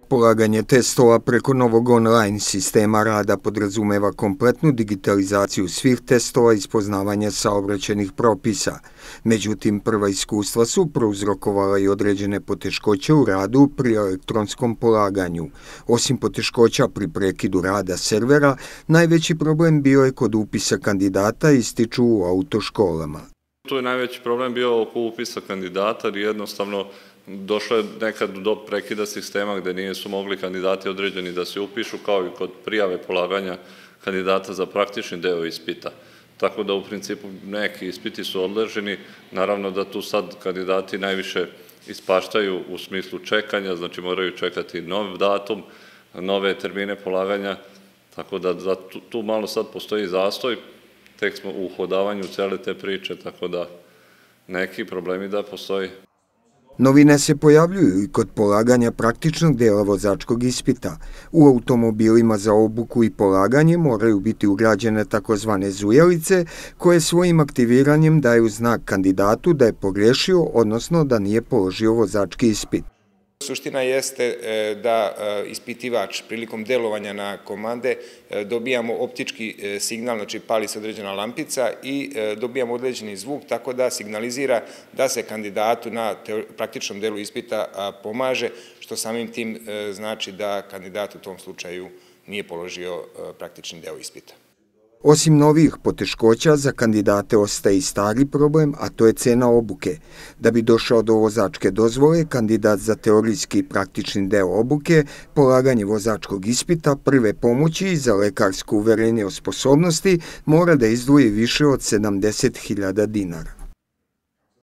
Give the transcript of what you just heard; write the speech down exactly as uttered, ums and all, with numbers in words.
Polaganje testova preko novog online sistema rada podrazumeva kompletnu digitalizaciju svih testova i poznavanja saobraćajnih propisa. Međutim, prva iskustva su prouzrokovala i određene poteškoće u radu pri elektronskom polaganju. Osim poteškoća pri prekidu rada servera, najveći problem bio je kod upisa kandidata, ističu u autoškolama. Tu je najveći problem bio oko upisa kandidata, jer jednostavno došlo je nekad do prekida sistema gde nisu mogli kandidati određeni da se upišu, kao i kod prijave polaganja kandidata za praktični deo ispita. Tako da u principu neki ispiti su odloženi, naravno da tu sad kandidati najviše ispaštaju u smislu čekanja, znači moraju čekati nov datum, nove termine polaganja, tako da tu malo sad postoji zastoj, tek smo u uhodavanju cele te priče, tako da neki problemi da postoji. Novine se pojavljuju i kod polaganja praktičnog dela vozačkog ispita. U automobilima za obuku i polaganje moraju biti ugrađene takozvane zujelice, koje svojim aktiviranjem daju znak kandidatu da je pogrešio, odnosno da nije položio vozački ispit. Suština jeste da ispitivač prilikom delovanja na komande dobijamo optički signal, znači pali se određena lampica i dobijamo određeni zvuk, tako da signalizira da se kandidatu na praktičnom delu ispita pomaže, što samim tim znači da kandidat u tom slučaju nije položio praktični deo ispita. Osim novih poteškoća, za kandidate ostaje i stari problem, a to je cena obuke. Da bi došao do vozačke dozvole, kandidat za teorijski i praktični deo obuke, polaganje vozačkog ispita, prve pomoći i za lekarsko uverenje o sposobnosti mora da izdvoji više od sedamdeset hiljada dinara.